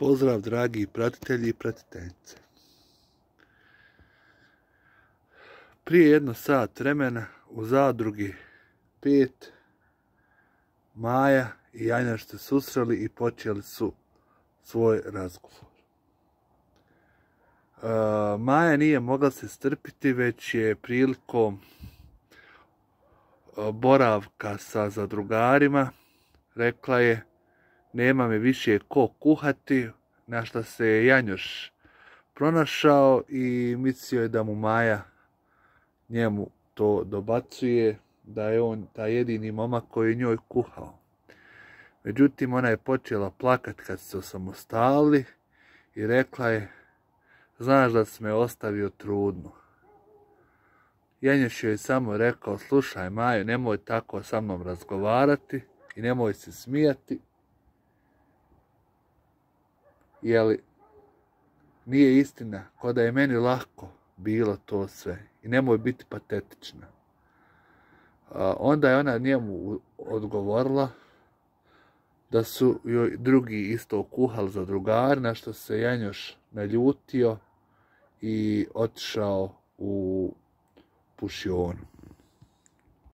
Pozdrav dragi pratitelji i pratiteljice. Prije jedno sat vremena u zadrugi 5 Maja i Janjaš se susreli i počeli su svoj razgovor. Maja nije mogla se strpiti, već je prilikom boravka sa zadrugarima rekla je: nema mi više ko kuhati, na što se je Janjoš pronašao i mislio je da mu Maja njemu to dobacuje, da je on taj jedini momak koji je njoj kuhao. Međutim, ona je počela plakat kad se osamostalili i rekla je: znaš da si me ostavio trudnu. Janjoš joj je samo rekao: slušaj Majo, nemoj tako sa mnom razgovarati i nemoj se smijati, jeli nije istina, ko da je meni lako bilo to sve i nemoj biti patetična. Onda je ona njemu odgovorila da su joj drugi isto kuhali zadrugari, na što se Janjoš naljutio i otišao u pušionu.